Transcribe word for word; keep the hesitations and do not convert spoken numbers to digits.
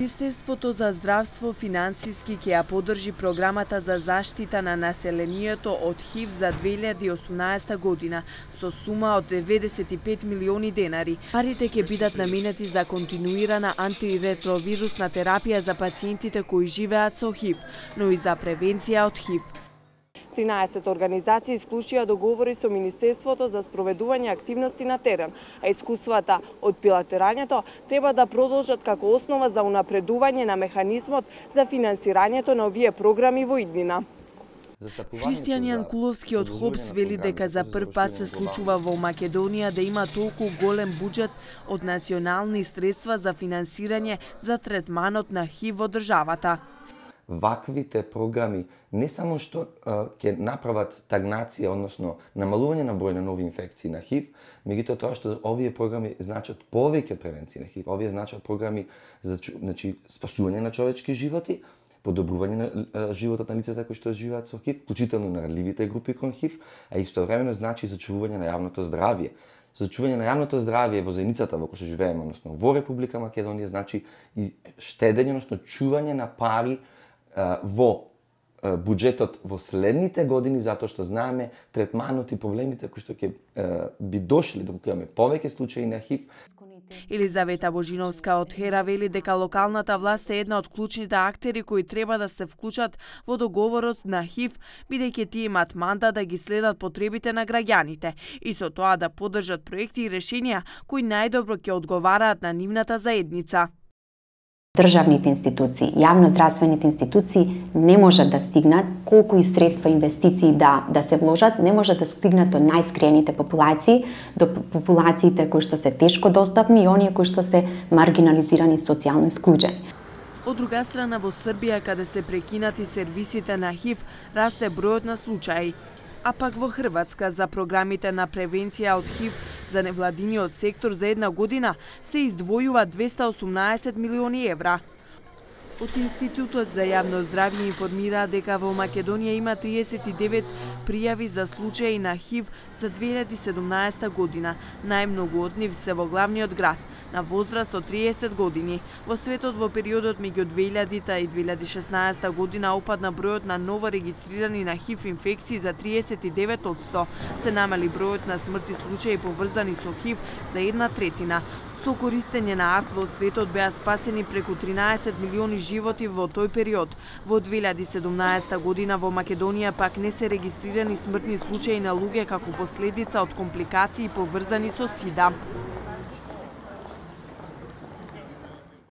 Министерството за здравство финансиски ќе ја поддржи програмата за заштита на населението од ХИВ за две илјади и осумнаесета година со сума од деветдесет и пет милиони денари. Парите ќе бидат наменети за континуирана антиретровирусна терапија за пациентите кои живеат со ХИВ, но и за превенција од ХИВ. тринаесет организации исклучија договори со Министерството за спроведување активности на терен, а искуствата од пилотирањето треба да продолжат како основа за унапредување на механизмот за финансирањето на овие програми во иднина. Христијан Јанкуловски од ХОПС вели дека за прв пат се случува во Македонија да има толку голем буџет од национални средства за финансирање за третманот на ХИВ во државата. Ваквите програми не само што ќе направат стагнација, односно намалување на број на нови инфекции на ХИВ, меѓутоа тоа што овие програми значат повеќе од превенција на ХИВ, овие значат програми за значи спасување на човечки животи, подобрување на животот на лицата кои што живеат со ХИВ, вклучително на ранливите групи кон ХИВ, а истовремено значи зачувување на јавното здравје. Зачувување на јавното здравје во заедницата во која што живееме, односно во Република Македонија, значи и штедење, односно чување на пари во буџетот во следните години, затоа што знаеме третманот и проблемите кои што ќе би дошли доколку имаме повеќе случаи на ХИВ. Елизавета Божиновска од Хера вели дека локалната власт е една од клучните актери кои треба да се вклучат во договорот на ХИВ, бидејќи тие имаат мандат да ги следат потребите на граѓаните и со тоа да поддржат проекти и решенија кои најдобро ќе одговараат на нивната заедница. Државните институции, јавноздравствените институции не можат да стигнат колку и средства инвестиции да да се вложат, не можат да стигнат до најскриените популации, до популациите кои што се тешко достапни и оние кои што се маргинализирани и социјално исклучени. Од друга страна, во Србија, каде се прекинати сервисите на ХИВ, расте бројот на случаи. А пак во Хрватска за програмите на превенција од ХИВ за невладиниот сектор за една година се издвојува двесте и осумнаесет милиони евра. Од Институтот за јавно здравје информира дека во Македонија има триесет и девет пријави за случаи на ХИВ за две илјади и седумнаесета година. Најмногу од нив се во главниот град, на возраст од триесет години. Во светот во периодот меѓу две илјадите и две илјади и шеснаесета година опадна бројот на ново регистрирани на ХИВ инфекции за триесет и девет одсто. Се намали бројот на смртни случаи поврзани со ХИВ за една третина. Со користење на арт во светот беа спасени преку тринаесет милиони животи во тој период. Во две илјади и седумнаесета година во Македонија пак не се регистрирани смртни случаи на луѓе како последица од компликации поврзани со СИДА.